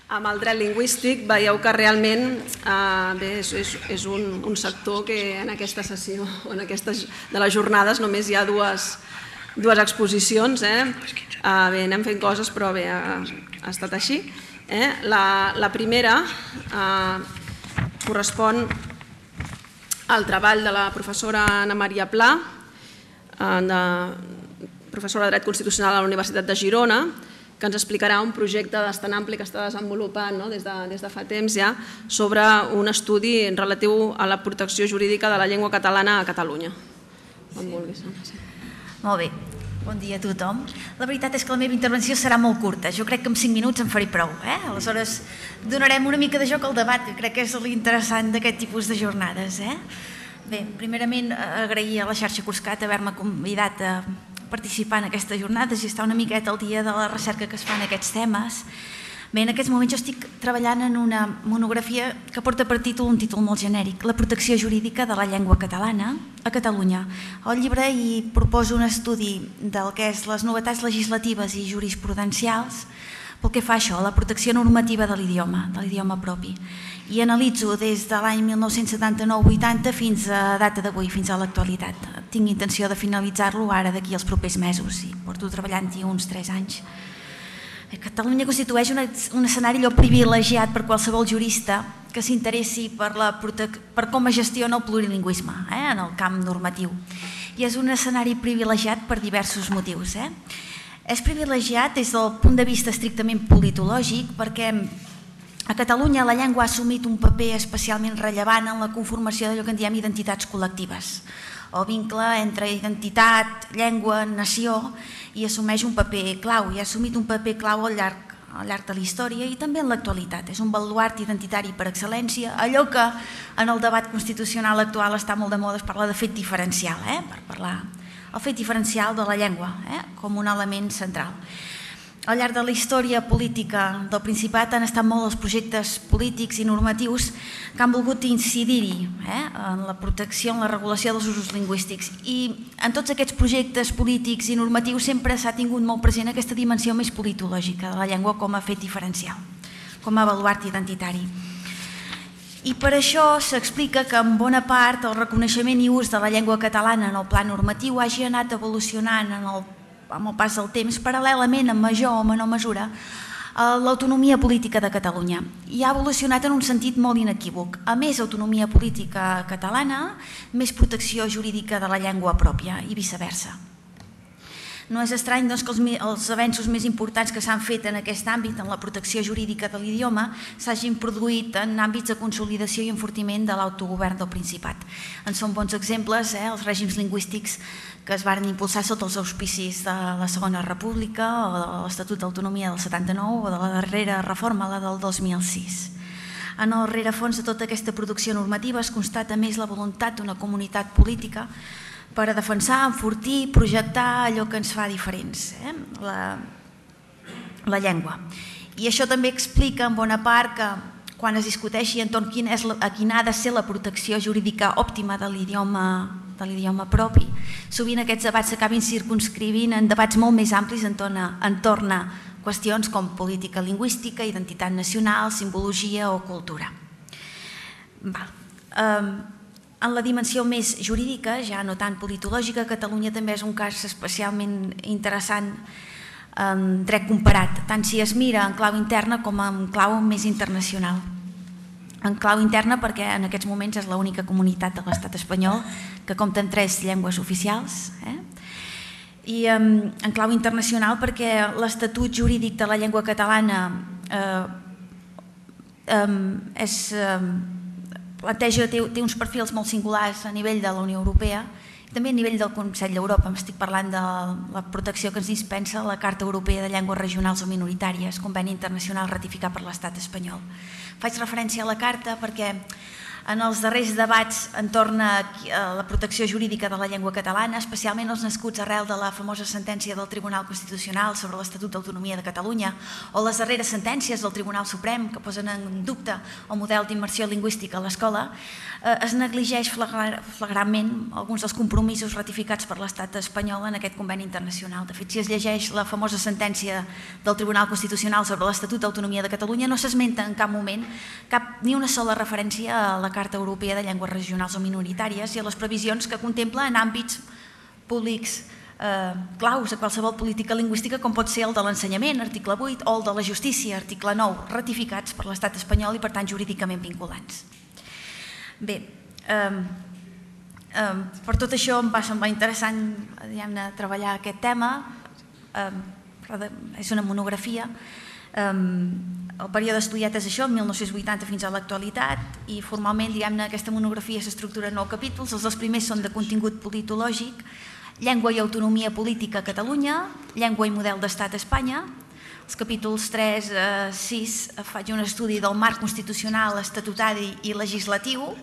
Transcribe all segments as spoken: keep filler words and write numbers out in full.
amb el dret lingüístic, veieu que realment és un sector que en aquesta sessió, en aquestes de les jornades, només hi ha dues exposicions. Bé, anem fent coses, però bé, ha estat així. La primera correspon al treball de la professora Anna Maria Pla, professora de Dret Constitucional a la Universitat de Girona, que ens explicarà un projecte bastant ampli que està desenvolupant des de fa temps ja sobre un estudi relatiu a la protecció jurídica de la llengua catalana a Catalunya. Quan vulguis. Molt bé. Bon dia a tothom. La veritat és que la meva intervenció serà molt curta. Jo crec que en cinc minuts en faré prou. Aleshores, donarem una mica de joc al debat, que crec que és l'interessant d'aquest tipus de jornades. Bé, primerament, agrair a la xarxa Cuscat haver-me convidat a participar en aquestes jornades i estar una miqueta al dia de la recerca que es fa en aquests temes. Bé, en aquests moments jo estic treballant en una monografia que porta per títol un títol molt genèric, La protecció jurídica de la llengua catalana a Catalunya. Al llibre hi proposo un estudi del que és les novetats legislatives i jurisprudencials pel que fa a això, la protecció normativa de l'idioma, de l'idioma propi. I analitzo des de l'any mil nou-cents setanta-nou vuitanta fins a data d'avui, fins a l'actualitat. Tinc intenció de finalitzar-lo ara d'aquí als propers mesos i porto treballant-hi uns tres anys. Catalunya constitueix un escenari allò privilegiat per qualsevol jurista que s'interessi per com es gestiona el plurilingüisme en el camp normatiu. I és un escenari privilegiat per diversos motius. És privilegiat des del punt de vista estrictament politològic perquè a Catalunya la llengua ha assumit un paper especialment rellevant en la conformació d'allò que en diem identitats col·lectives, o vincle entre identitat, llengua, nació, i assumeix un paper clau, i ha assumit un paper clau al llarg al llarg de la història i també en l'actualitat. És un baluart identitari per excel·lència. Allò que en el debat constitucional actual està molt de moda és parlar de fet diferencial, per parlar el fet diferencial de la llengua com un element central. Al llarg de la història política del Principat han estat molt els projectes polítics i normatius que han volgut incidir-hi en la protecció, en la regulació dels usos lingüístics. I en tots aquests projectes polítics i normatius sempre s'ha tingut molt present aquesta dimensió més politològica de la llengua com a fet diferencial, com a baluart identitari. I per això s'explica que en bona part el reconeixement i ús de la llengua catalana en el pla normatiu hagi anat evolucionant en el amb el pas del temps, paral·lelament, en major o menor mesura, l'autonomia política de Catalunya. I ha evolucionat en un sentit molt inequívoc. A més autonomia política catalana, més protecció jurídica de la llengua pròpia i viceversa. No és estrany que els avenços més importants que s'han fet en aquest àmbit, en la protecció jurídica de l'idioma, s'hagin produït en àmbits de consolidació i enfortiment de l'autogovern del Principat. En són bons exemples els règims lingüístics que es van impulsar sota els auspicis de la Segona República o de l'Estatut d'Autonomia del setanta-nou o de la darrera reforma, la del dos mil sis. En el rerefons de tota aquesta producció normativa es constata més la voluntat d'una comunitat política per a defensar, enfortir i projectar allò que ens fa diferents, la llengua. I això també explica en bona part que quan es discuteixi entorn a quina ha de ser la protecció jurídica òptima de l'idioma de l'idioma propi, sovint aquests debats s'acabin circumscrivint en debats molt més amplis entorn a qüestions com política lingüística, identitat nacional, simbologia o cultura. En la dimensió més jurídica, ja no tan politològica, Catalunya també és un cas especialment interessant en dret comparat, tant si es mira en clau interna com en clau més internacional. En clau interna perquè en aquests moments és l'única comunitat de l'estat espanyol que compta amb tres llengües oficials, i en clau internacional perquè l'Estatut Jurídic de la Llengua Catalana planteja, té uns perfils molt singulars a nivell de la Unió Europea i també a nivell del Consell d'Europa. M'estic parlant de la protecció que ens dispensa la Carta Europea de Llengües Regionals o Minoritàries, conveni internacional ratificat per l'estat espanyol. Faig referència a la Carta perquè en els darrers debats entorn a la protecció jurídica de la llengua catalana, especialment els nascuts arrel de la famosa sentència del Tribunal Constitucional sobre l'Estatut d'Autonomia de Catalunya o les darreres sentències del Tribunal Suprem que posen en dubte el model d'immersió lingüística a l'escola, es negligeix flagrantment alguns dels compromisos ratificats per l'estat espanyol en aquest conveni internacional. De fet, si es llegeix la famosa sentència del Tribunal Constitucional sobre l'Estatut d'Autonomia de Catalunya, no s'esmenta en cap moment cap ni una sola referència a la Carta Europea de Llengües Regionals o Minoritàries i a les previsions que contempla en àmbits públics claus a qualsevol política lingüística com pot ser el de l'ensenyament, article vuit, o el de la justícia, article nou, ratificats per l'estat espanyol i per tant jurídicament vinculants. Bé, per tot això em va semblar interessant treballar aquest tema, és una monografia. El període estudiat és això, mil nou-cents vuitanta fins a l'actualitat, i formalment aquesta monografia s'estructura en nou capítols. Els dos primers són de contingut politològic, Llengua i autonomia política a Catalunya, Llengua i model d'estat a Espanya. Els capítols tres a sis faig un estudi del marc constitucional, estatutari i legislatiu,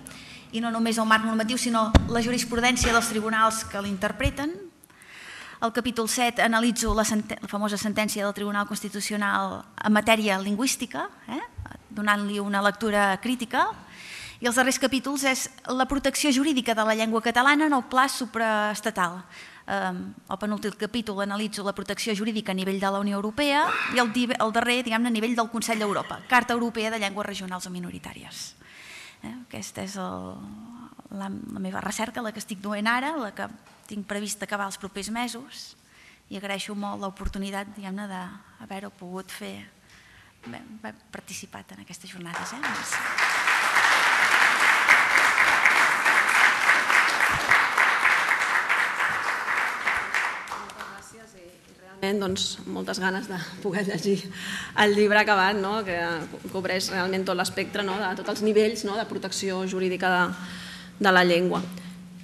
i no només el marc normatiu, sinó la jurisprudència dels tribunals que l'interpreten. Al capítol set analitzo la famosa sentència del Tribunal Constitucional en matèria lingüística, donant-li una lectura crítica. I els darrers capítols és la protecció jurídica de la llengua catalana en el pla supraestatal. El penúltim capítol analitzo la protecció jurídica a nivell de la Unió Europea i el darrer, diguem-ne, a nivell del Consell d'Europa, Carta Europea de Llengües Regionals o Minoritàries. Aquesta és la meva recerca, la que estic duent ara, la que tinc previst acabar els propers mesos, i agraeixo molt l'oportunitat, diguem-ne, d'haver-ho pogut fer, haver participat en aquestes jornades. Doncs, moltes ganes de poder llegir el llibre acabat, que cobreix realment tot l'espectre de tots els nivells de protecció jurídica de la llengua.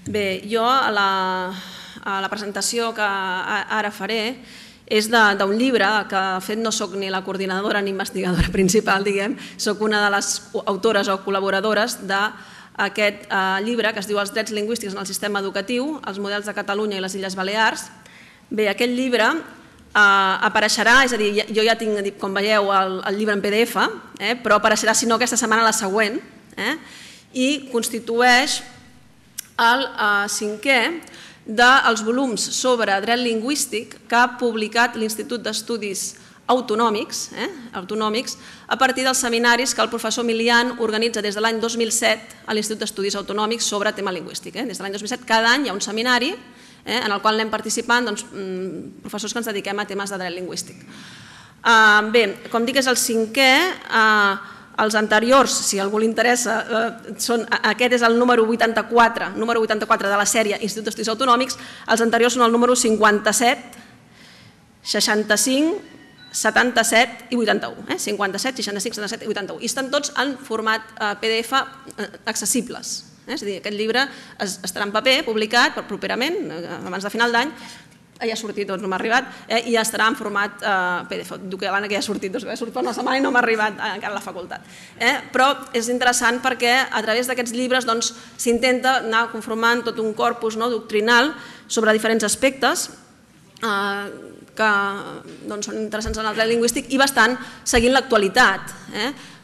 Bé, jo a la presentació que ara faré és d'un llibre que de fet no soc ni la coordinadora ni investigadora principal, diguem, soc una de les autores o col·laboradores d'aquest llibre que es diu Els drets lingüístics en el sistema educatiu, els models de Catalunya i les Illes Balears. Bé, aquest llibre apareixerà, és a dir, jo ja tinc, com veieu, el llibre en P D F, però apareixerà, si no, aquesta setmana la següent, i constitueix el cinquè dels volums sobre dret lingüístic que ha publicat l'Institut d'Estudis Autonòmics a partir dels seminaris que el professor Milian organitza des de l'any dos mil set a l'Institut d'Estudis Autonòmics sobre tema lingüístic. Des de l'any dos mil set cada any hi ha un seminari en el qual anem participant professors que ens dediquem a temes de dret lingüístic. Bé, com dic, és el cinquè. Els anteriors, si a algú li interessa, aquest és el número vuitanta-quatre, número vuitanta-quatre de la sèrie Institut d'Estudis Autonòmics. Els anteriors són el número cinquanta-set, seixanta-cinc, setanta-set i vuitanta-u. cinquanta-set, seixanta-cinc, setanta-set i vuitanta-u. I estan tots en format P D F accessibles. És a dir, aquest llibre estarà en paper, publicat properament, abans de final d'any, ja ha sortit, doncs no m'ha arribat, i ja estarà en format P D F. Diu que l'Anna que ja ha sortit, doncs ha sortit per una setmana i no m'ha arribat encara a la facultat. Però és interessant perquè a través d'aquests llibres s'intenta anar conformant tot un corpus doctrinal sobre diferents aspectes que són interessants en el dret lingüístic i bastant seguint l'actualitat.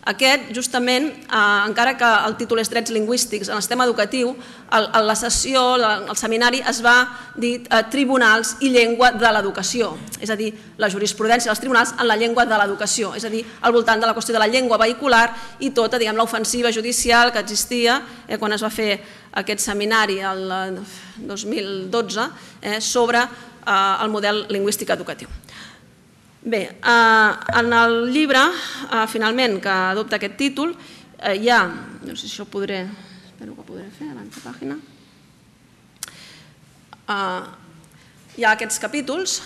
Aquest, justament, encara que el títol és Drets lingüístics en el sistema educatiu, a la sessió, al seminari, es va dir Tribunals i llengua de l'educació, és a dir, la jurisprudència dels tribunals en la llengua de l'educació, és a dir, al voltant de la qüestió de la llengua vehicular i tota, diguem, l'ofensiva judicial que existia quan es va fer aquest seminari el dos mil dotze sobre el model lingüístic educatiu. Bé, en el llibre, finalment, que adopta aquest títol, hi ha, no sé si això ho podré, espero que ho podré fer, abans de pàgina, hi ha aquests capítols.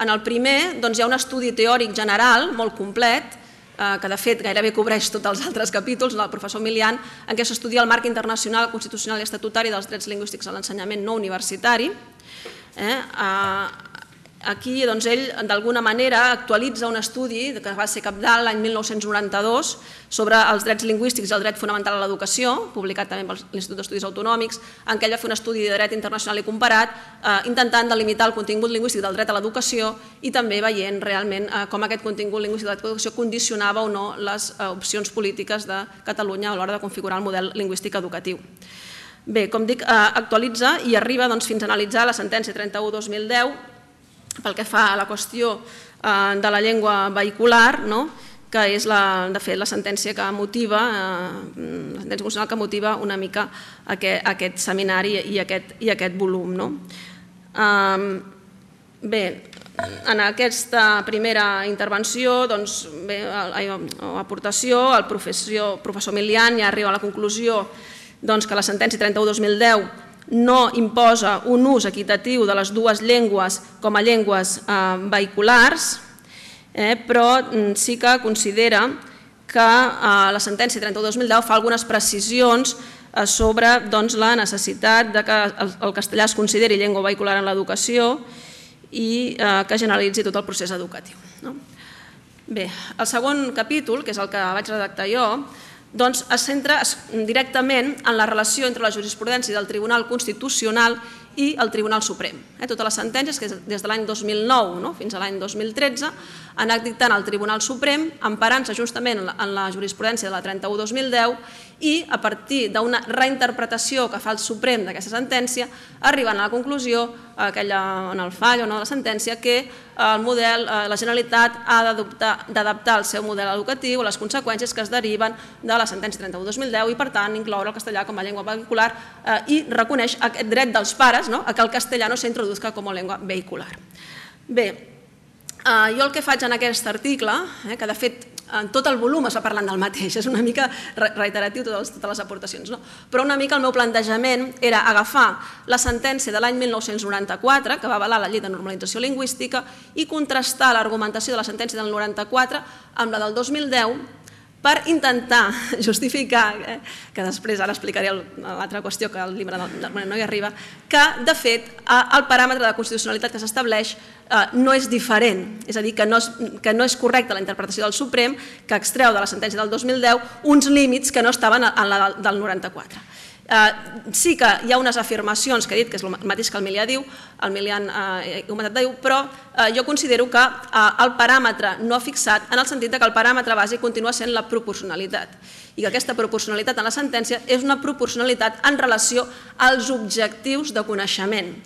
En el primer hi ha un estudi teòric general molt complet, que de fet gairebé cobreix tots els altres capítols, del professor Milian, en què s'estudia el marc internacional, constitucional i estatutari dels drets lingüístics a l'ensenyament no universitari. Aquí ell d'alguna manera actualitza un estudi que va ser cabdal l'any mil nou-cents noranta-dos sobre els drets lingüístics i el dret fonamental a l'educació, publicat també per l'Institut d'Estudis Autonòmics, en què ell va fer un estudi de dret internacional i comparat intentant delimitar el contingut lingüístic del dret a l'educació i també veient realment com aquest contingut lingüístic de l'educació condicionava o no les opcions polítiques de Catalunya a l'hora de configurar el model lingüístic educatiu. Bé, com dic, actualitza i arriba fins a analitzar la sentència trenta-u dos mil deu pel que fa a la qüestió de la llengua vehicular, que és, de fet, la sentència que motiva, la sentència constitucional que motiva una mica aquest seminari i aquest volum. Bé, en aquesta primera intervenció, o aportació, el professor Milian ja arriba a la conclusió que la sentència trenta-u dos mil deu no imposa un ús equitatiu de les dues llengües com a llengües vehiculars, però sí que considera que la sentència trenta-u dos mil deu fa algunes precisions sobre la necessitat que el castellà es consideri llengua vehicular en l'educació i que generalitzi tot el procés educatiu. Bé, el segon capítol, que és el que vaig redactar jo, doncs es centra directament en la relació entre la jurisprudència del Tribunal Constitucional i el Tribunal Suprem. Totes les sentències que des de l'any dos mil nou fins a l'any dos mil tretze han anat dictant al Tribunal Suprem, emparant-se justament en la jurisprudència de la trenta-u dos mil deu i a partir d'una reinterpretació que fa el Suprem d'aquesta sentència, arribant a la conclusió, en el fall o no de la sentència, que el model, la Generalitat ha d'adaptar el seu model educatiu a les conseqüències que es deriven de la sentència trenta-u dos mil deu i, per tant, incloure el castellà com a llengua vehicular i reconeix aquest dret dels pares a que el castellà no s'introduzca com a llengua vehicular. Bé, jo el que faig en aquest article, que de fet en tot el volum es va parlant del mateix, és una mica reiteratiu totes les aportacions, però una mica el meu plantejament era agafar la sentència de l'any mil nou-cents noranta-quatre, que va avalar la llei de normalització lingüística, i contrastar l'argumentació de la sentència del noranta-quatre amb la del dos mil deu per intentar justificar, que després ara explicaré l'altra qüestió que el llibre no hi arriba, que de fet el paràmetre de constitucionalitat que s'estableix no és diferent, és a dir, que no és correcta la interpretació del Suprem, que extreu de la sentència del dos mil deu uns límits que no estaven en la del noranta-quatre. Sí que hi ha unes afirmacions que he dit, que és el mateix que el Milian diu, el Milian ha comentat diu, però jo considero que el paràmetre no ha fixat en el sentit que el paràmetre bàsic continua sent la proporcionalitat i que aquesta proporcionalitat en la sentència és una proporcionalitat en relació als objectius de coneixement,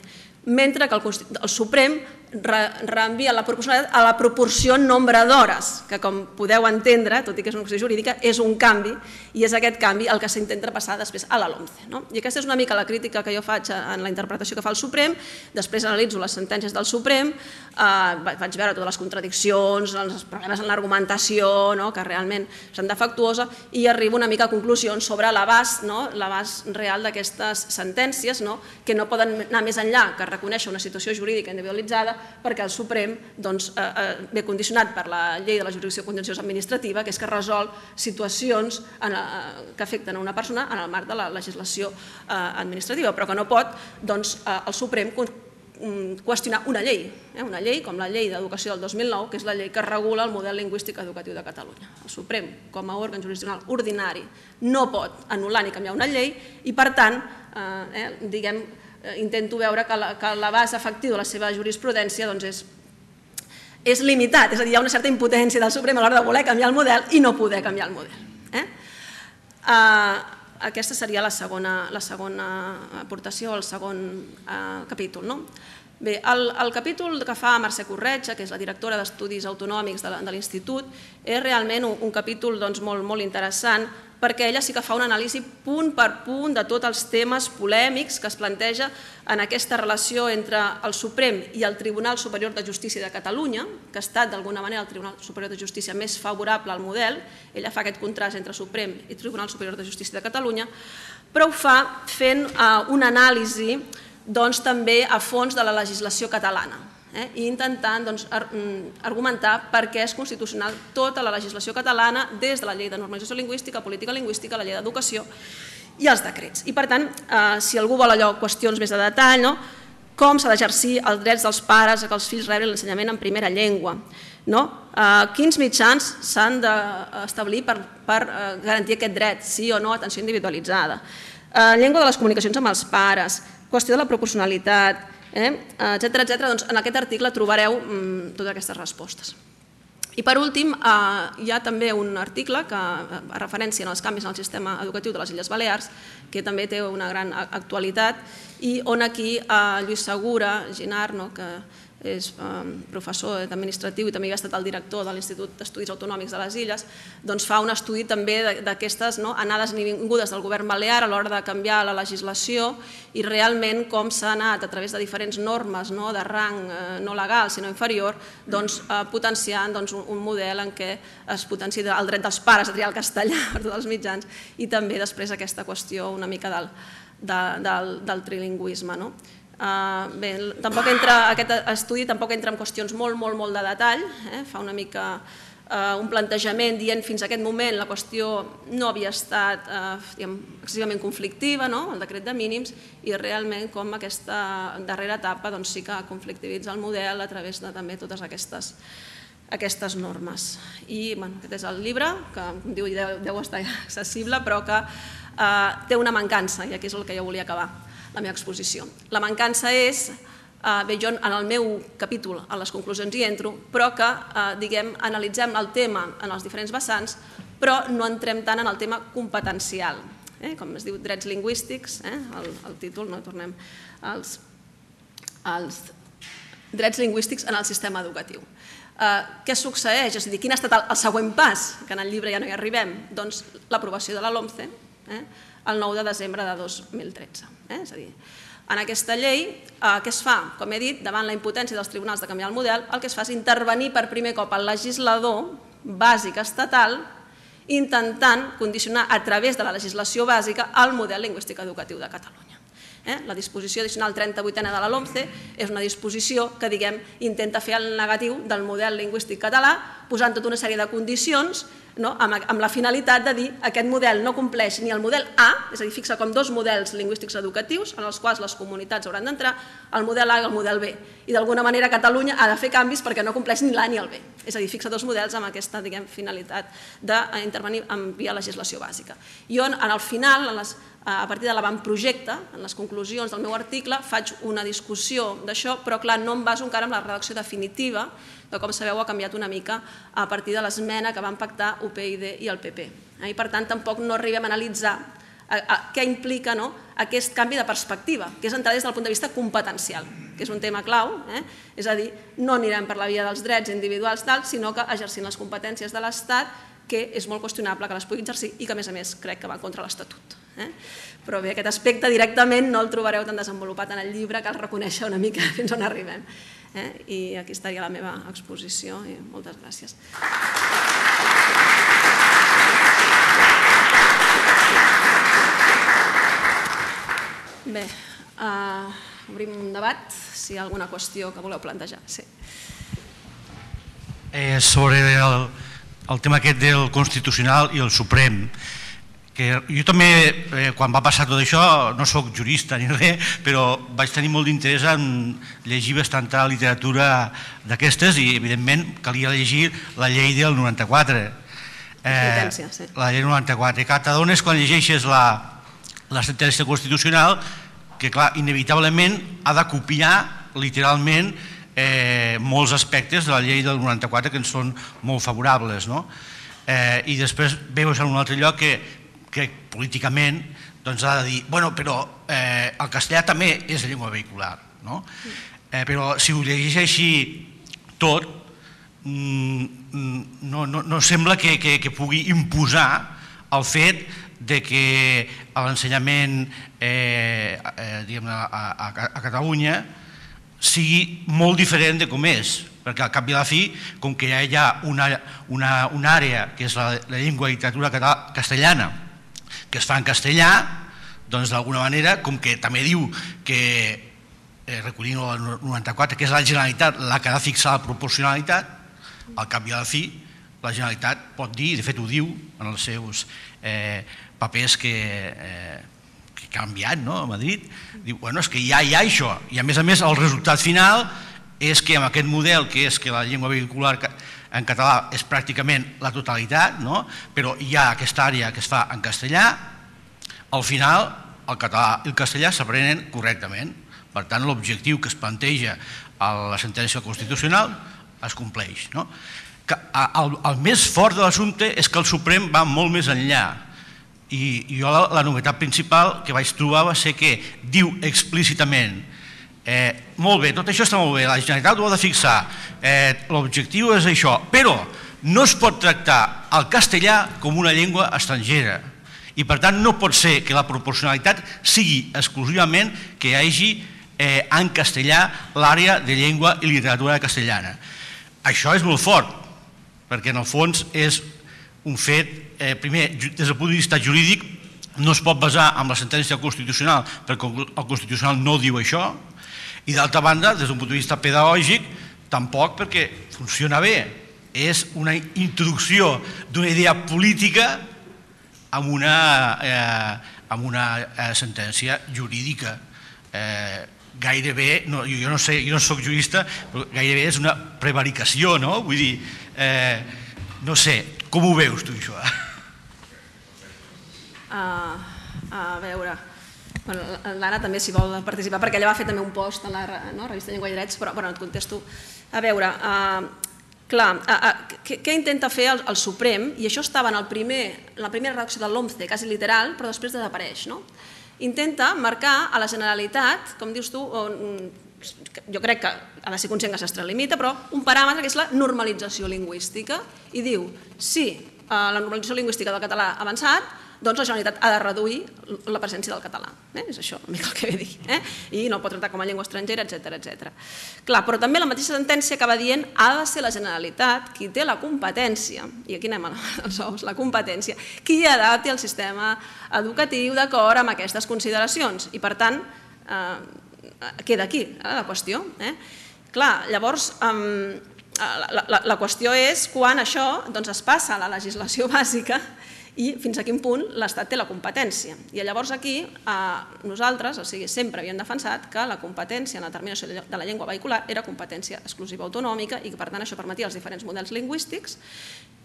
mentre que el Suprem reenvia la proporcionalitat a la proporció nombre d'hores, que com podeu entendre, tot i que és una qüestió jurídica, és un canvi i és aquest canvi el que s'intenta passar després a la LOMCE. I aquesta és una mica la crítica que jo faig en la interpretació que fa el Suprem, després analitzo les sentències del Suprem, vaig veure totes les contradiccions, els problemes en l'argumentació, que realment són defectuosa, i arribo una mica a conclusions sobre l'abast real d'aquestes sentències, que no poden anar més enllà que reconèixer una situació jurídica individualitzada, perquè el Suprem ve condicionat per la llei de la jurisdicció contenciosa administrativa, que és que resol situacions que afecten a una persona en el marc de la legislació administrativa, però que no pot el Suprem qüestionar una llei, una llei com la llei d'educació del dos mil nou, que és la llei que regula el model lingüístic educatiu de Catalunya. El Suprem, com a òrgan jurisdiccional ordinari, no pot anul·lar ni canviar una llei i, per tant, diguem, intento veure que l'abast efectiu de la seva jurisprudència és limitat, és a dir, hi ha una certa impotència del Suprem a l'hora de voler canviar el model i no poder canviar el model. Aquesta seria la segona aportació, el segon capítol. Bé, el capítol que fa Mercè Corretja, que és la directora d'Estudis Autonòmics de l'Institut, és realment un capítol molt interessant perquè ella sí que fa una anàlisi punt per punt de tots els temes polèmics que es planteja en aquesta relació entre el Suprem i el Tribunal Superior de Justícia de Catalunya, que ha estat d'alguna manera el Tribunal Superior de Justícia més favorable al model. Ella fa aquest contrast entre Suprem i Tribunal Superior de Justícia de Catalunya, però ho fa fent una anàlisi també a fons de la legislació catalana i intentant argumentar per què és constitucional tota la legislació catalana des de la llei de normalització lingüística, política lingüística, la llei d'educació i els decrets. I per tant, si algú vol allò qüestions més de detall, com s'ha d'exercir els drets dels pares a que els fills rebin l'ensenyament en primera llengua, quins mitjans s'han d'establir per garantir aquest dret, sí o no, atenció individualitzada, llengua de les comunicacions amb els pares, qüestió de la proporcionalitat, etcètera, etcètera. Doncs en aquest article trobareu totes aquestes respostes. I per últim, hi ha també un article que fa referència als canvis en el sistema educatiu de les Illes Balears, que també té una gran actualitat, i on aquí Lluís Segura Ginar, que és professor administratiu i també ha estat el director de l'Institut d'Estudis Autonòmics de les Illes, doncs fa un estudi també d'aquestes anades i vingudes del govern balear a l'hora de canviar la legislació i realment com s'ha anat a través de diferents normes de rang no legal sinó inferior potenciant un model en què es potencia el dret dels pares a triar el castellà per tots els mitjans i també després aquesta qüestió una mica del trilingüisme. Bé, aquest estudi tampoc entra en qüestions molt, molt, molt de detall, fa una mica un plantejament dient fins a aquest moment la qüestió no havia estat excessivament conflictiva, el decret de mínims, i realment com aquesta darrera etapa sí que conflictivitza el model a través de també totes aquestes aquestes normes. I aquest és el llibre, que com diu deu estar accessible, però que té una mancança, i aquí és el que jo volia acabar la meva exposició. La mancança és, bé, jo en el meu capítol, a les conclusions hi entro, però que, diguem, analitzem el tema en els diferents vessants, però no entrem tant en el tema competencial. Com es diu, drets lingüístics, el títol, no tornem als drets lingüístics en el sistema educatiu. Què succeeix? És a dir, quin ha estat el següent pas, que en el llibre ja no hi arribem? Doncs l'aprovació de la LOMCE el nou de desembre de dos mil tretze. És a dir, en aquesta llei, què es fa? Com he dit, davant la impotència dels tribunals de canviar el model, el que es fa és intervenir per primer cop el legislador bàsic estatal intentant condicionar a través de la legislació bàsica el model lingüístic educatiu de Catalunya. La disposició addicional trenta-vuitena de la LOMCE és una disposició que, diguem, intenta fer el negatiu del model lingüístic català posant tota una sèrie de condicions amb la finalitat de dir que aquest model no compleix ni el model A, és a dir, fixa com dos models lingüístics educatius en els quals les comunitats hauran d'entrar, el model A i el model B. I d'alguna manera Catalunya ha de fer canvis perquè no compleix ni l'A ni el B. És a dir, fixa dos models amb aquesta finalitat d'intervenir via legislació bàsica. Jo, al final, a partir de l'avantprojecte, en les conclusions del meu article, faig una discussió d'això, però clar, no em baso encara en la redacció definitiva, que com sabeu ha canviat una mica a partir de l'esmena que van pactar U P y i el P P. I per tant tampoc no arribem a analitzar què implica aquest canvi de perspectiva, que és entrar des del punt de vista competencial, que és un tema clau, és a dir, no anirem per la via dels drets individuals, sinó que exercint les competències de l'Estat, que és molt qüestionable que les pugui exercir i que a més a més crec que va contra l'Estatut. Però bé, aquest aspecte directament no el trobareu tan desenvolupat en el llibre, cal reconèixer una mica fins on arribem. I aquí estaria la meva exposició i moltes gràcies. Bé, obrim un debat, si hi ha alguna qüestió que voleu plantejar. Sobre el tema aquest del Constitucional i el Suprem, jo també, quan va passar tot això, no soc jurista ni res, però vaig tenir molt d'interès en llegir bastanta literatura d'aquestes i, evidentment, calia llegir la llei del noranta-quatre. La llei del noranta-quatre. I t'adones quan llegeixes la sentència constitucional que, clar, inevitablement ha de copiar, literalment, molts aspectes de la llei del noranta-quatre que ens són molt favorables. I després veus en un altre lloc que que políticament ha de dir, bueno, però el castellà també és llengua vehicular, però si ho llegeix així tot, no sembla que pugui imposar el fet que l'ensenyament a Catalunya sigui molt diferent de com és, perquè al cap i a la fi, com que ja hi ha una àrea que és la llengua i literatura castellana que es fa en castellà, doncs d'alguna manera, com que també diu que, recollint el noranta-quatre, que és la Generalitat la que ha de fixar la proporcionalitat, al cap i a la fi, la Generalitat pot dir, i de fet ho diu en els seus papers que que ha canviat, no?, a Madrid, diu, bueno, és que ja hi ha això, i a més a més el resultat final és que amb aquest model, que és que la llengua vehicular en català és pràcticament la totalitat, no?, però hi ha aquesta àrea que es fa en castellà, al final el català i el castellà s'aprenen correctament. Per tant, l'objectiu que es planteja a la sentència constitucional es compleix. El més fort de l'assumpte és que el Suprem va molt més enllà, i jo la novetat principal que vaig trobar va ser que diu explícitament molt bé, tot això està molt bé, la Generalitat ho ha de fixar, l'objectiu és això, però no es pot tractar el castellà com una llengua estrangera i per tant no pot ser que la proporcionalitat sigui exclusivament que hi hagi en castellà l'àrea de llengua i literatura castellana. Això és molt fort, perquè en el fons és un fet, primer, des del punt de vista jurídic, no es pot basar en la sentència constitucional perquè el Constitucional no diu això, i d'altra banda, des d'un punt de vista pedagògic, tampoc perquè funciona bé. És una introducció d'una idea política amb una sentència jurídica. Gairebé, jo no sé, jo no soc jurista, però gairebé és una prevaricació, no? Vull dir, no sé, com ho veus tu, això? A veure, l'Anna també s'hi vol participar, perquè ella va fer també un post a la revista Llengua i Drets, però et contesto. A veure, clar, què intenta fer el Suprem? I això estava en la primera redacció de l'OMCE, quasi literal, però després desapareix, no? Intenta marcar a la Generalitat, com dius tu, jo crec que ha de ser conscient que s'extralimita, però un paràmetre que és la normalització lingüística i diu, si la normalització lingüística del català ha avançat, doncs la Generalitat ha de reduir la presència del català. És això una mica el que ve a dir. I no el pot tractar com a llengua estrangera, etcètera. Clar, però també la mateixa sentència acaba dient ha de ser la Generalitat qui té la competència, i aquí anem als ous, la competència, qui adapti el sistema educatiu d'acord amb aquestes consideracions. I per tant, queda aquí la qüestió. Clar, llavors, la qüestió és quan això es passa a la legislació bàsica i fins a quin punt l'Estat té la competència. I llavors aquí nosaltres, o sigui, sempre havíem defensat que la competència en la determinació de la llengua vehicular era competència exclusiva autonòmica i que per tant això permetia els diferents models lingüístics,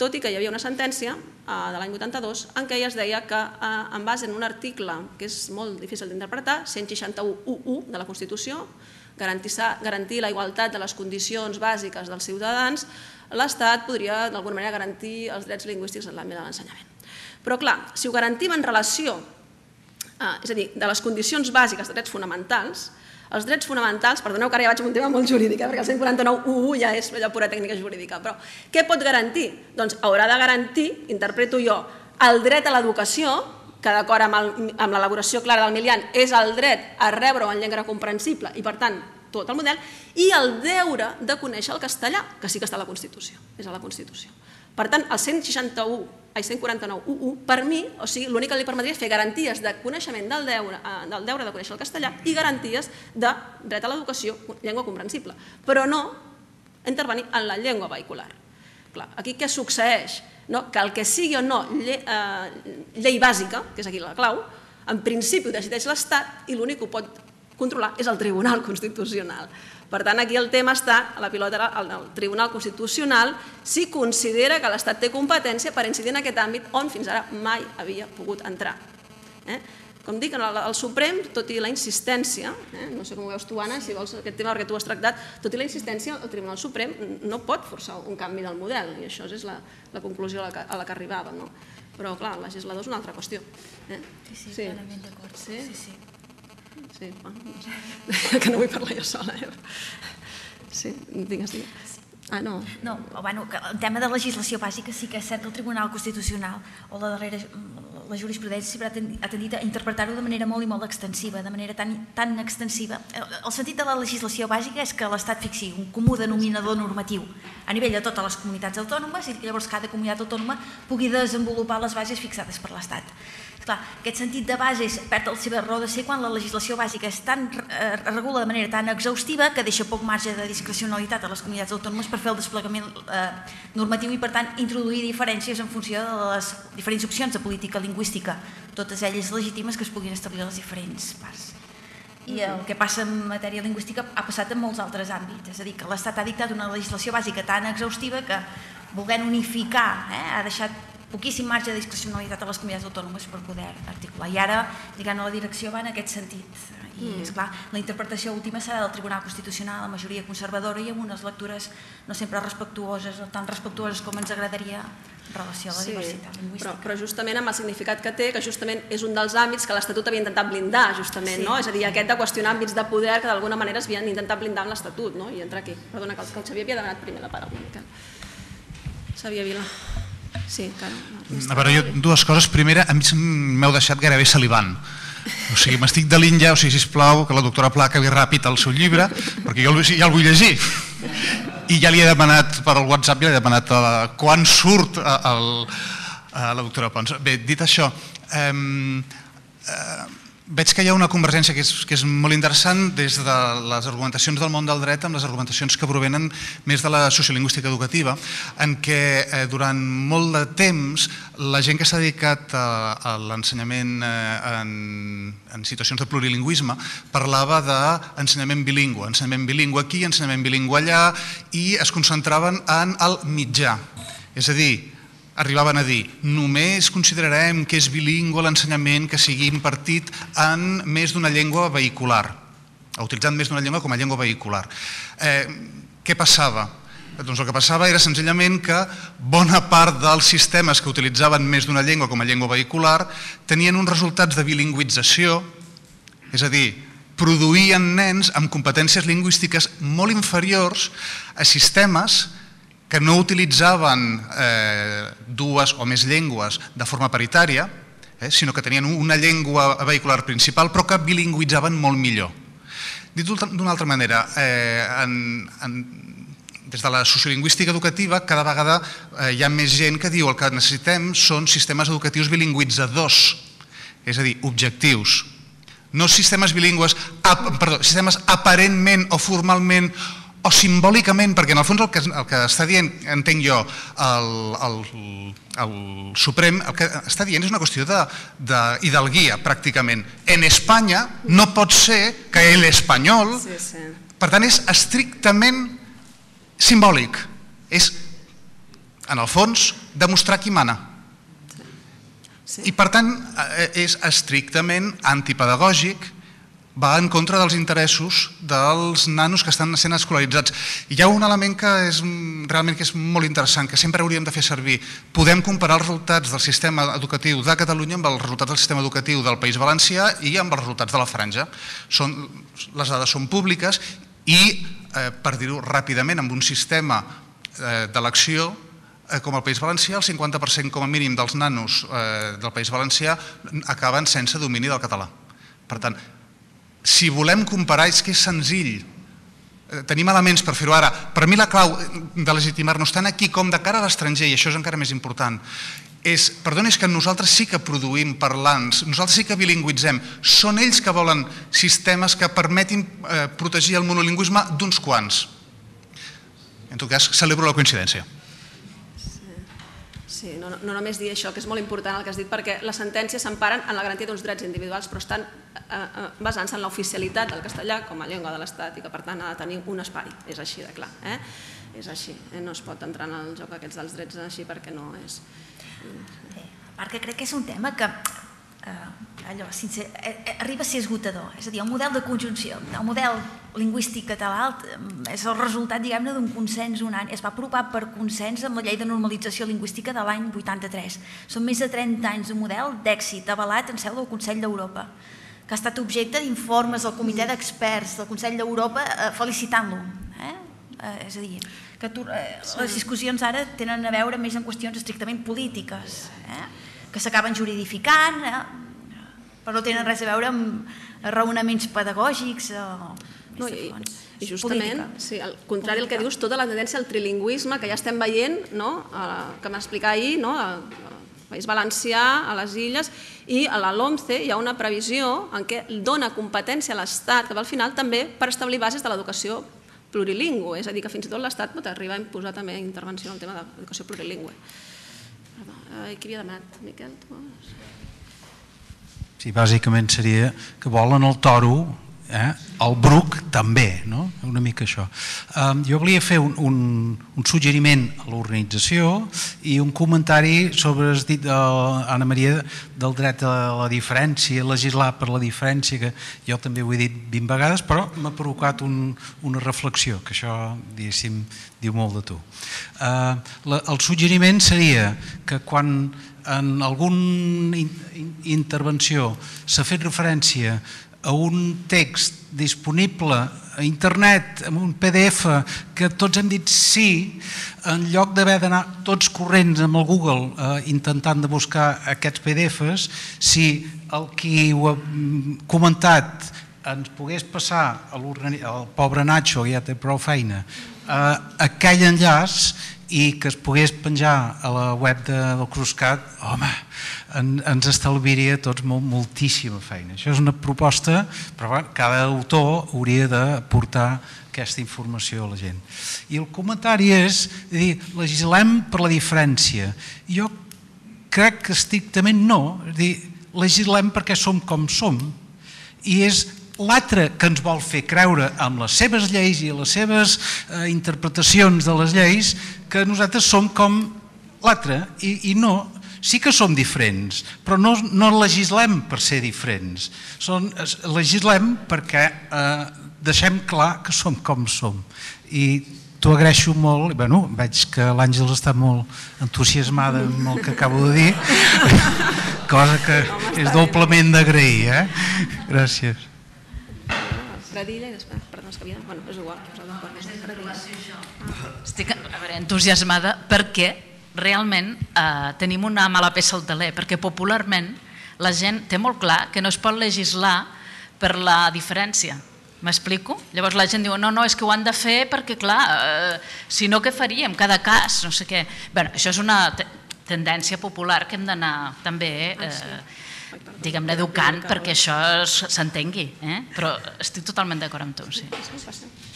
tot i que hi havia una sentència de l'any vuitanta-dos en què es deia que en base en un article que és molt difícil d'interpretar, cent seixanta-u u u de la Constitució, garantir la igualtat de les condicions bàsiques dels ciutadans, l'Estat podria d'alguna manera garantir els drets lingüístics en l'àmbit de l'ensenyament. Però clar, si ho garantim en relació, és a dir, de les condicions bàsiques de drets fonamentals, els drets fonamentals, perdoneu que ara ja vaig amb un tema molt jurídic, perquè el cent quaranta-nou u u ja és pura tècnica jurídica, però què pot garantir? Doncs haurà de garantir, interpreto jo, el dret a l'educació, que d'acord amb l'elaboració clara del Milian és el dret a rebre-ho en llengua comprensible i per tant tot el model, i el deure de conèixer el castellà, que sí que està a la Constitució, és a la Constitució. Per tant, el cent quaranta-nou u u, per mi, o sigui, l'únic que li permetria és fer garanties de coneixement del deure de conèixer el castellà i garanties de dret a l'educació, llengua comprensible, però no intervenir en la llengua vehicular. Aquí què succeeix? Que el que sigui o no llei bàsica, que és aquí la clau, en principi ho decideix l'Estat i l'únic que ho pot controlar és el Tribunal Constitucional. Per tant, aquí el tema està, la pilota al Tribunal Constitucional, si considera que l'Estat té competència per incidir en aquest àmbit on fins ara mai havia pogut entrar. Com dic, el Suprem, tot i la insistència, no sé com ho veus tu, Anna, si vols aquest tema perquè tu has tractat, tot i la insistència, el Tribunal Suprem no pot forçar un canvi del model, i això és la conclusió a la que arribàvem. Però, clar, el legislador és una altra qüestió. Sí, sí, clarament d'acord. Sí, sí. Sí, que no vull parlar jo sola. Sí, digues, digues. Ah, no. No, bueno, el tema de legislació bàsica sí que és cert que el Tribunal Constitucional o la darrera la jurisprudència sempre ha tendit a interpretar-ho de manera molt i molt extensiva, de manera tan extensiva. El sentit de la legislació bàsica és que l'Estat fixi un comú denominador normatiu a nivell de totes les comunitats autònomes i llavors cada comunitat autònoma pugui desenvolupar les bases fixades per l'Estat. Clar, aquest sentit de bases perd el seva raó de ser quan la legislació bàsica es regula de manera tan exhaustiva que deixa poc marge de discrecionalitat a les comunitats autònomes per fer el desplegament normatiu i, per tant, introduir diferències en funció de les diferents opcions de política lingüística lingüística, totes elles legítimes que es puguin establir a les diferents parts. I el que passa en matèria lingüística ha passat en molts altres àmbits, és a dir, que l'Estat ha dictat una legislació bàsica tan exhaustiva que, volent unificar, ha deixat poquíssim marge de discrecionalitat a les comunitats autònomes per poder articular. I ara, diguem, la direcció va en aquest sentit. I, esclar, la interpretació última serà del Tribunal Constitucional, la majoria conservadora i amb unes lectures no sempre respectuoses, o tan respectuoses com ens agradaria en relació a la diversitat lingüística. Però justament amb el significat que té, que justament és un dels àmbits que l'Estatut havia intentat blindar, justament, no? És a dir, aquest de qüestionar àmbits de poder que d'alguna manera es havien intentat blindar amb l'Estatut, no? I entra aquí. Perdona, que el Xavier havia demanat primer la paraula, Miquel. Xavier Vila. Sí, clar. A veure, jo dues coses. Primera, a mi m'heu deixat gairebé salivant. O sigui, m'estic delint ja, o sigui, sisplau, que la doctora Pla acabi ràpid el seu llibre, perquè jo ja el vull llegir. I ja li he demanat per al WhatsApp, ja li he demanat quan surt a la doctora Pons. Bé, dit això, veig que hi ha una convergència que és molt interessant des de les argumentacions del món del dret amb les argumentacions que provenen més de la sociolingüística educativa, en què durant molt de temps la gent que s'ha dedicat a l'ensenyament en situacions de plurilingüisme parlava d'ensenyament bilingüe, ensenyament bilingüe aquí, ensenyament bilingüe allà, i es concentraven en el mitjà. És a dir, arribaven a dir, només considerarem que és bilingüe l'ensenyament que sigui impartit en més d'una llengua vehicular, utilitzant més d'una llengua com a llengua vehicular. Què passava? Doncs el que passava era senzillament que bona part dels sistemes que utilitzaven més d'una llengua com a llengua vehicular tenien uns resultats de bilingüització, és a dir, produïen nens amb competències lingüístiques molt inferiors a sistemes que no utilitzaven dues o més llengües de forma paritària, sinó que tenien una llengua vehicular principal, però que bilingüitzaven molt millor. Dit d'una altra manera, des de la sociolingüística educativa cada vegada hi ha més gent que diu que el que necessitem són sistemes educatius bilingüitzadors, és a dir, objectius. No sistemes bilingües, perdó, sistemes aparentment o formalment o simbòlicament, perquè en el fons el que està dient, entenc jo, el Suprem, el que està dient és una qüestió d'hidalguia, pràcticament. En Espanya no pot ser que l'espanyol, per tant, és estrictament simbòlic. És, en el fons, demostrar qui mana. I, per tant, és estrictament antipedagògic, va en contra dels interessos dels nanos que estan sent escolaritzats. Hi ha un element que és realment que és molt interessant, que sempre hauríem de fer servir. Podem comparar els resultats del sistema educatiu de Catalunya amb els resultats del sistema educatiu del País Valencià i amb els resultats de la Franja. Les dades són públiques i, per dir-ho ràpidament, amb un sistema d'elecció com el País Valencià, el cinquanta per cent com a mínim dels nanos del País Valencià acaben sense domini del català. Per tant, si volem comparar, és que és senzill. Tenim elements per fer-ho ara. Per mi la clau de legitimar-nos tant aquí com de cara a l'estranger, i això és encara més important, és, perdona, és que nosaltres sí que produïm parlants, nosaltres sí que bilingüitzem. Són ells que volen sistemes que permetin protegir el monolingüisme d'uns quants. En tot cas, celebro la coincidència. Sí, no només dir això, que és molt important el que has dit, perquè les sentències s'emparen en la garantia d'uns drets individuals, però estan basant-se en l'oficialitat del castellà com a llengua de l'Estat i que, per tant, ha de tenir un espai. És així de clar. És així. No es pot entrar en el joc aquests dels drets així perquè no és... A part que crec que és un tema que allò, arriba a ser esgotador. És a dir, el model de conjunció, el model lingüístic català és el resultat, diguem-ne, d'un consens unànime. Es va aprovar per consens amb la llei de normalització lingüística de l'any vuitanta-tres. Són més de trenta anys d'un model d'èxit avalat en seu del Consell d'Europa, que ha estat objecte d'informes del comitè d'experts del Consell d'Europa felicitant-lo. És a dir, que les discussions ara tenen a veure més en qüestions estrictament polítiques, que s'acaben juridificant, però no tenen res a veure amb raonaments pedagògics o... I justament, al contrari del que dius, tota la tendència al trilingüisme que ja estem veient, que vam explicar ahir, al País Valencià, a les Illes, i a la LOMCE hi ha una previsió en què dona competència a l'Estat, que va al final també per establir bases de l'educació plurilingüe, és a dir, que fins i tot l'Estat pot arribar a imposar també intervenció en el tema de l'educació plurilingüe. Perdó, qui havia demanat? Miquel, tu? Sí, bàsicament seria que volen el toro, eh? El bruc també, no? Una mica això. Um, jo volia fer un, un, un suggeriment a l'organització i un comentari sobre el dit d'Anna Maria del dret a la diferència, legislar per la diferència, que jo també ho he dit vint vegades, però m'ha provocat un, una reflexió, que això, diguéssim, diu molt de tu. Uh, la, el suggeriment seria que quan en alguna in, in, intervenció s'ha fet referència a un text disponible a internet, amb un P D F, que tots hem dit sí, en lloc d'haver d'anar tots corrents amb el Google eh, intentant de buscar aquests P D Fs, si el qui ho ha comentat ens pogués passar al pobre Nacho, que ja té prou feina, eh, aquell enllaç i que es pogués penjar a la web de, del Cruscat, home, en, ens estalviaria tots molt, moltíssima feina. Això és una proposta, però bueno, cada autor hauria de portar aquesta informació a la gent. I el comentari és dir, legislem per la diferència. Jo crec que estrictament no, és dir, legislem perquè som com som, i és l'altre que ens vol fer creure amb les seves lleis i les seves eh, interpretacions de les lleis que nosaltres som com l'altre i, i no, sí que som diferents, però no, no legislem per ser diferents, som, legislem perquè eh, deixem clar que som com som. I t'ho agraeixo molt, bueno, veig que l'Àngels està molt entusiasmada amb el que acabo de dir, cosa que és doblement d'agrair, eh? Gràcies. Pradilla i després, perdó, és que havia... Bueno, és igual. Estic a veure, entusiasmada perquè realment eh, tenim una mala peça al teler, perquè popularment la gent té molt clar que no es pot legislar per la diferència. M'explico? Llavors la gent diu, no, no, és que ho han de fer perquè, clar, eh, si no, què faríem? Cada cas, no sé què. Bé, això és una tendència popular que hem d'anar també... Eh, diguem-ne, educant perquè això s'entengui, eh? Però estic totalment d'acord amb tu, sí.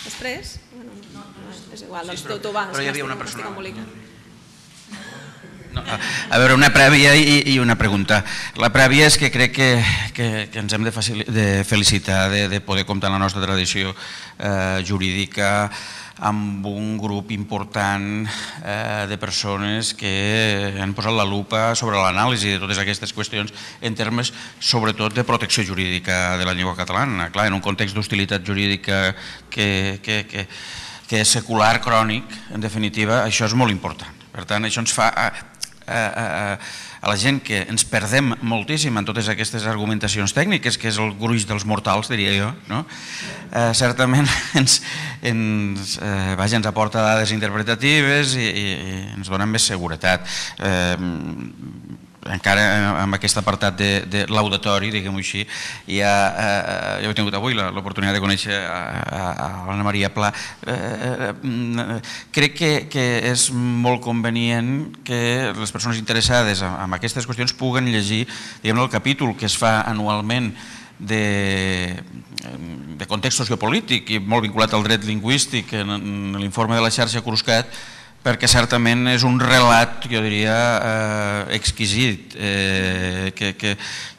Després, és igual, doncs tu vas, però hi havia una persona... No, a veure, una prèvia i, i una pregunta. La prèvia és que crec que, que, que ens hem de, de felicitar de, de poder comptar en la nostra tradició eh, jurídica amb un grup important eh, de persones que han posat la lupa sobre l'anàlisi de totes aquestes qüestions en termes, sobretot, de protecció jurídica de la llengua catalana. Clar, en un context d'hostilitat jurídica que, que, que, que és secular, crònic, en definitiva, això és molt important. Per tant, això ens fa... A, a, a, a la gent que ens perdem moltíssim en totes aquestes argumentacions tècniques, que és el gruix dels mortals, diria jo, no? Eh, certament ens, ens, eh, vaja, ens aporta dades interpretatives i, i, i ens dona més seguretat. Eh, encara amb aquest apartat de, de l'auditori, diguem-ho així, ja, eh, jo he tingut avui l'oportunitat de conèixer a, a, a Anna Maria Pla. Eh, eh, crec que, que és molt convenient que les persones interessades en, en aquestes qüestions puguen llegir, diguem-ne, el capítol que es fa anualment de, de context sociopolític i molt vinculat al dret lingüístic en, en l'informe de la xarxa Cruscat, perquè certament és un relat, jo diria, eh, exquisit, eh, que, que,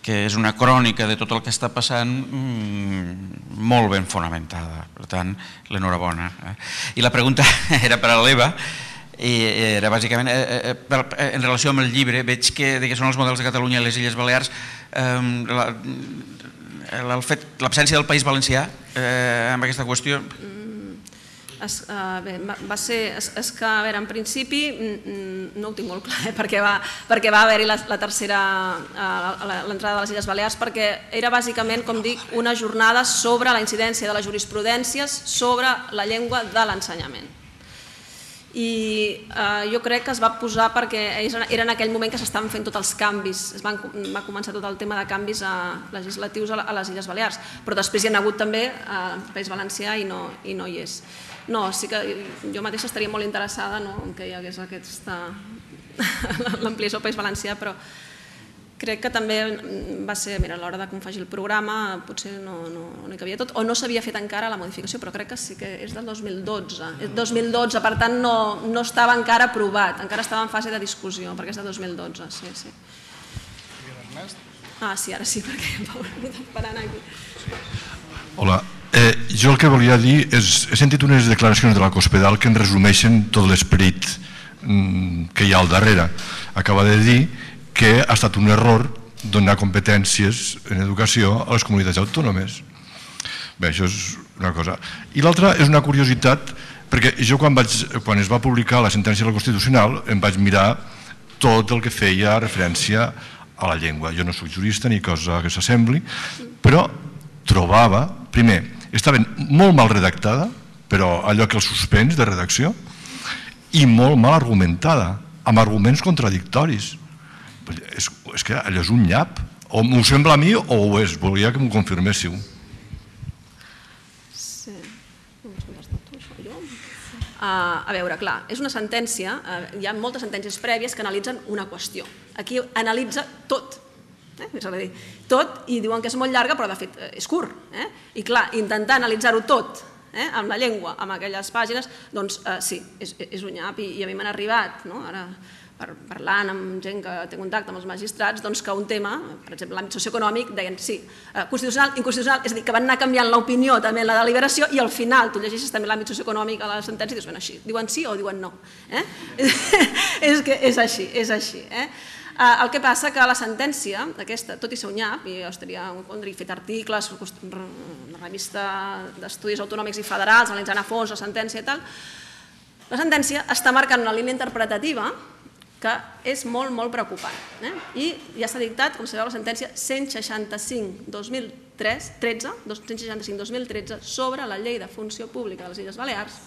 que és una crònica de tot el que està passant mm, molt ben fonamentada. Per tant, l'enhorabona. Eh? I la pregunta era per a l'Eva, i era bàsicament, eh, eh, en relació amb el llibre, veig que, que són els models de Catalunya i les Illes Balears, eh, l'absència del País Valencià eh, amb aquesta qüestió... Es, uh, bé, va ser, és, és que, a veure, en principi no ho tinc molt clar, eh, perquè va, perquè va haver-hi la, la tercera, uh, l'entrada de les Illes Balears, perquè era bàsicament, com dic, una jornada sobre la incidència de les jurisprudències sobre la llengua de l'ensenyament. I eh, jo crec que es va posar perquè era en aquell moment que s'estaven fent tots els canvis, es van, va començar tot el tema de canvis a, legislatius a, a les Illes Balears, però després hi ha hagut també al eh, País Valencià i no, i no hi és. No, sí que jo mateixa estaria molt interessada, no, en que hi hagués aquesta l'ampliació al País Valencià, però crec que també va ser, mira, a l'hora de confegir el programa potser no, no, no hi cabia tot, o no s'havia fet encara la modificació, però crec que sí que és del dos mil dotze. És dos mil dotze, per tant no, no estava encara aprovat, encara estava en fase de discussió, perquè és de dos mil dotze, sí, sí. Ah, sí, ara sí, perquè em va esperant aquí. Hola, eh, jo el que volia dir és, he sentit unes declaracions de la Cospedal que en resumeixen tot l'esperit mm, que hi ha al darrere. Acaba de dir que ha estat un error donar competències en educació a les comunitats autònomes. Bé, això és una cosa. I l'altra és una curiositat, perquè jo quan, vaig, quan es va publicar la sentència del Constitucional em vaig mirar tot el que feia referència a la llengua. Jo no soc jurista ni cosa que s'assembli, però trobava, primer, estava molt mal redactada, però allò que el suspens de redacció, i molt mal argumentada, amb arguments contradictoris. És, és que allò és un nyap. O m'ho sembla a mi o ho és. Volia que m'ho confirméssiu. Sí. Uh, a veure, clar, és una sentència, uh, hi ha moltes sentències prèvies que analitzen una qüestió. Aquí analitza tot. Eh? És a dir, tot, i diuen que és molt llarga, però de fet és curt. Eh? I clar, intentar analitzar-ho tot eh? amb la llengua, amb aquelles pàgines, doncs uh, sí, és, és un nyap, i, i a mi m'han arribat, no? Ara, per, parlant amb gent que té contacte amb els magistrats, doncs que un tema, per exemple, l'àmbit socioeconòmic, deien sí, uh, constitucional, inconstitucional, és a dir, que van anar canviant l'opinió també en la deliberació, i al final tu llegeixes també l'àmbit socioeconòmic a la sentència i dius, bueno, així, diuen sí o diuen no. Eh? és que és així, és així. Eh? El que passa que la sentència, aquesta, tot i ser un nyap, i jo estaria en contra, he fet articles, una revista d'estudis autonòmics i federals, analitzant a fons la sentència i tal, la sentència està marcant una línia interpretativa que és molt, molt preocupant. Eh? I ja s'ha dictat, com sabeu, la sentència cent seixanta-cinc dos mil tretze cent seixanta-cinc dos mil tretze sobre la llei de funció pública de les Illes Balears,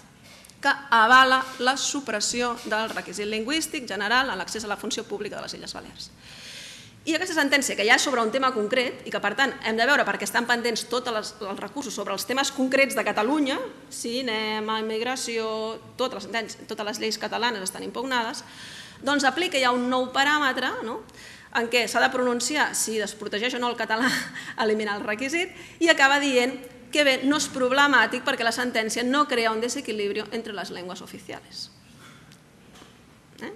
que avala la supressió del requisit lingüístic general en l'accés a la funció pública de les Illes Balears. I aquesta sentència, que ja és sobre un tema concret, i que per tant hem de veure perquè estan pendents tots els recursos sobre els temes concrets de Catalunya, cinema, immigració, totes les, totes les lleis catalanes estan impugnades, doncs aplica ja un nou paràmetre, no?, en què s'ha de pronunciar si desprotegeix o no el català eliminar el requisit, i acaba dient que bé, no és problemàtic perquè la sentència no crea un desequilibrio entre les llengües oficials. Eh?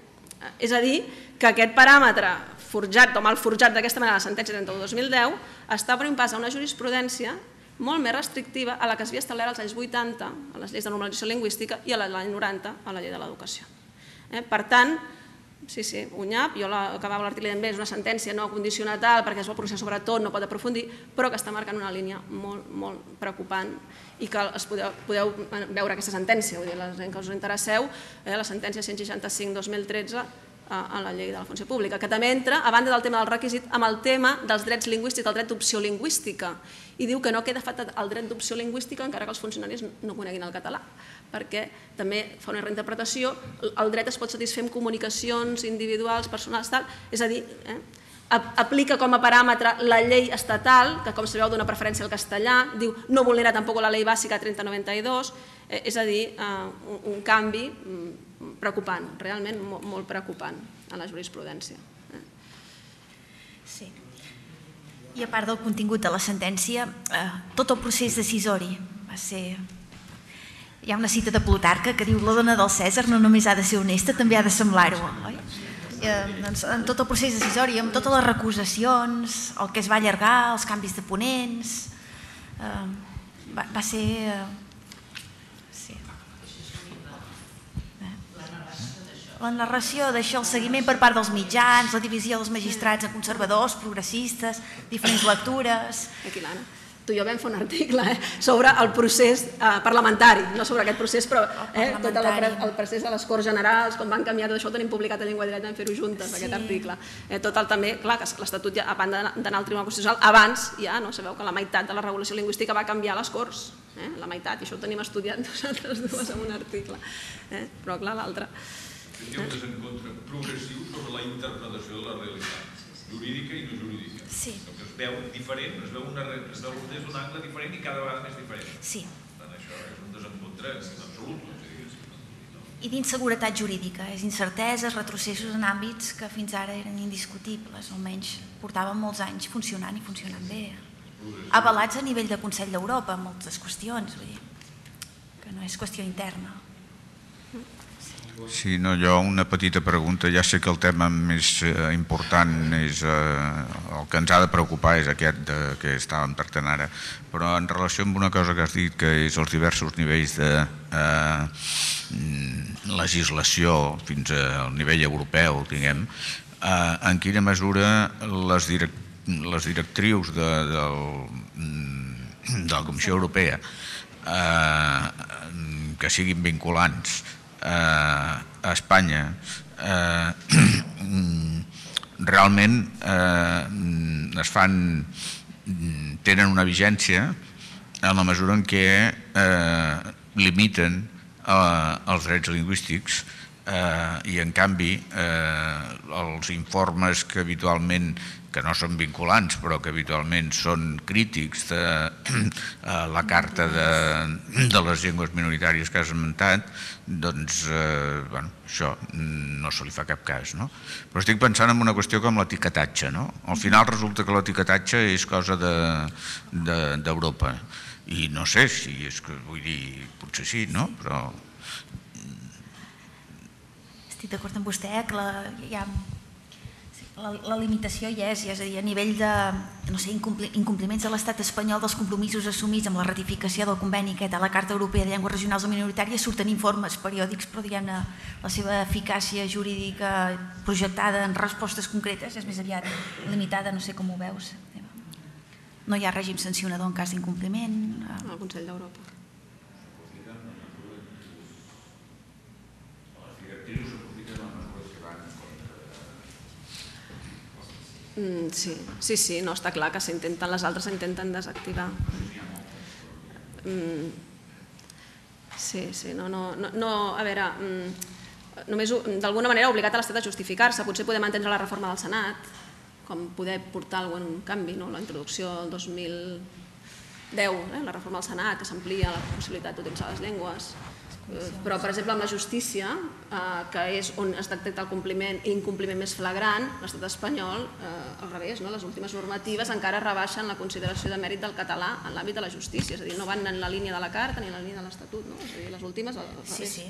És a dir, que aquest paràmetre forjat o mal forjat d'aquesta manera a la sentència trenta-u dos mil deu està prenent pas a una jurisprudència molt més restrictiva a la que s'havia establert als anys vuitanta, a les lleis de normalització lingüística, i a l'any noranta, a la llei de l'educació. Eh? Per tant, sí, sí, un nyap, jo acabava l'article dient bé, és una sentència no condicionatal perquè es vol pronunciar sobre tot, no pot aprofundir, però que està marcant una línia molt, molt preocupant i que es podeu, podeu veure aquesta sentència, vull dir, la gent que us interesseu, eh, la sentència cent seixanta-cinc dos mil tretze a la llei de la funció pública, que també entra, a banda del tema del requisit, amb el tema dels drets lingüístics, del dret d'opció lingüística, i diu que no queda afectat el dret d'opció lingüística encara que els funcionaris no coneguin el català, perquè també fa una reinterpretació, el dret es pot satisfer amb comunicacions individuals, personals, tal, és a dir, eh, aplica com a paràmetre la llei estatal, que com sabeu dona preferència al castellà, diu no vulnera tampoc la llei bàsica trenta noranta dos, eh, és a dir, eh, un, un canvi preocupant, realment molt preocupant en la jurisprudència. Sí. I a part del contingut de la sentència, tot el procés decisori va ser... Hi ha una cita de Plutarca que diu la dona del Cèsar no només ha de ser honesta, també ha de semblar-ho. En tot el procés decisori, amb totes les recusacions, el que es va allargar, els canvis de ponents, va ser... La narració d'això, el seguiment per part dels mitjans, la divisió dels magistrats en conservadors, progressistes, diferents lectures... Aquí l'Anna, tu i jo vam fer un article sobre el procés parlamentari, no sobre aquest procés, però tot el procés de les Corts Generals, com van canviar tot això, ho tenim publicat a Llengua i Dret, vam fer-ho juntes, aquest article. Tot el també, clar, que l'Estatut, a banda d'anar al Tribunal Constitucional, abans ja, sabeu que la meitat de la regulació lingüística va canviar a les Corts, la meitat, i això ho tenim estudiat nosaltres dues en un article, però clar, l'altre... Hi ha un desencontre progressiu sobre la interpretació de la realitat, jurídica i no jurídica. Sí. Que es veu diferent, es veu des d'un angle diferent i cada vegada més diferent. Sí. Per tant, això és un desencontre absolut. I d'inseguretat jurídica, és incerteses, retrocessos en àmbits que fins ara eren indiscutibles, almenys portaven molts anys funcionant i funcionant bé. Avalats a nivell de Consell d'Europa, moltes qüestions, vull dir, que no és qüestió interna. Sí, no, jo una petita pregunta. Ja sé que el tema més important és el que ens ha de preocupar és aquest que estàvem tractant ara, però en relació amb una cosa que has dit, que és els diversos nivells de legislació fins al nivell europeu, diguem, en quina mesura les directrius de la Comissió Europea que siguin vinculants a Espanya realment es fan, tenen una vigència en la mesura en què limiten els drets lingüístics i en canvi els informes que habitualment, que no són vinculants però que habitualment són crítics de la Carta de les Llengües Minoritàries que has esmentat, doncs això no se li fa cap cas. Però estic pensant en una qüestió com l'etiquetatge. Al final resulta que l'etiquetatge és cosa d'Europa i no sé si és que, vull dir, potser sí, no? Però... Estic d'acord amb vostè que hi ha... La limitació hi és, és a dir, a nivell de incompliments de l'estat espanyol dels compromisos assumits amb la ratificació del conveni aquest a la Carta Europea de Llengües Regionals o Minoritàries surten informes periòdics, però diguem-ne la seva eficàcia jurídica projectada en respostes concretes és més aviat limitada, no sé com ho veus. No hi ha règim sancionador en cas d'incompliment. Al Consell d'Europa. Sí, sí, sí, no, està clar que s'intenten, les altres s'intenten desactivar. Sí, sí, no, no, no, a veure, només d'alguna manera ha obligat a l'Estat a justificar-se, potser podem entendre la reforma del Senat, com poder portar algun canvi, la introducció del dos mil deu, la reforma del Senat, que s'amplia la possibilitat d'utilitzar les llengües. Però, per exemple, amb la justícia, que és on es detecta el compliment i incompliment més flagrant, l'estat espanyol, al revés, les últimes normatives encara rebaixen la consideració de mèrit del català en l'àmbit de la justícia, és a dir, no van en la línia de la Carta ni en la línia de l'Estatut, és a dir, les últimes al revés. Sí, sí.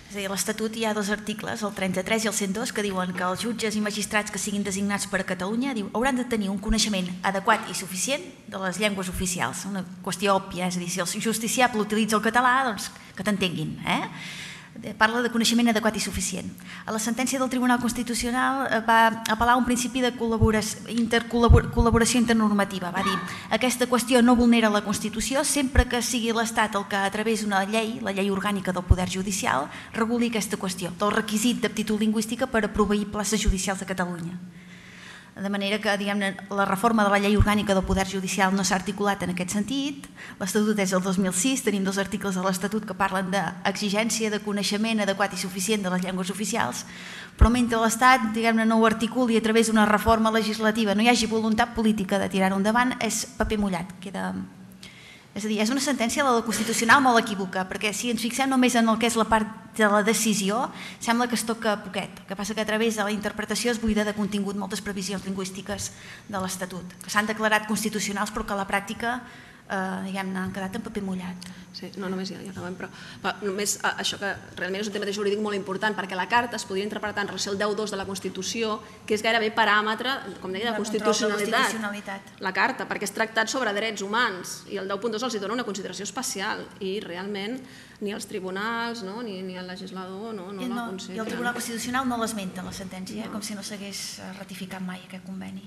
És a dir, a l'Estatut hi ha dos articles, el trenta-tres i el cent dos, que diuen que els jutges i magistrats que siguin designats per a Catalunya hauran de tenir un coneixement adequat i suficient de les llengües oficials. Una qüestió òbvia, és a dir, si el justiciable utilitza el català, doncs que t'entenguin. Parla de coneixement adequat i suficient. A la sentència del Tribunal Constitucional va apel·lar a un principi de col·laboració internormativa. Va dir, aquesta qüestió no vulnera la Constitució sempre que sigui l'Estat el que a través d'una llei, la llei orgànica del Poder Judicial, reguli aquesta qüestió, del requisit d'aptitud lingüística per a proveir places judicials a Catalunya. De manera que, diguem-ne, la reforma de la llei orgànica del Poder Judicial no s'ha articulat en aquest sentit. L'Estatut és del dos mil sis, tenim dos articles de l'Estatut que parlen d'exigència de coneixement adequat i suficient de les llengües oficials, però mentre l'Estat, diguem-ne, no ho articuli a través d'una reforma legislativa, no hi hagi voluntat política de tirar-ho endavant, és paper mullat, queda... És a dir, és una sentència de la Constitucional molt equívoca, perquè si ens fixem només en el que és la part de la decisió, sembla que es toca poquet. El que passa que a través de la interpretació es buida de contingut moltes previsions lingüístiques de l'Estatut, que s'han declarat constitucionals però que a la pràctica diguem-ne, han quedat en paper mullat. Sí, no, només ja acabem, però només això que realment és un tema jurídic molt important, perquè la Carta es podria interpretar en relació al deu dos de la Constitució, que és gairebé paràmetre, com deia, de constitucionalitat. La Carta, perquè és tractat sobre drets humans, i el deu punt dos els dona una consideració especial, i realment ni els tribunals ni el legislador no la consideren. I el Tribunal Constitucional no l'esmenta, la sentència, com si no s'hagués ratificat mai aquest conveni.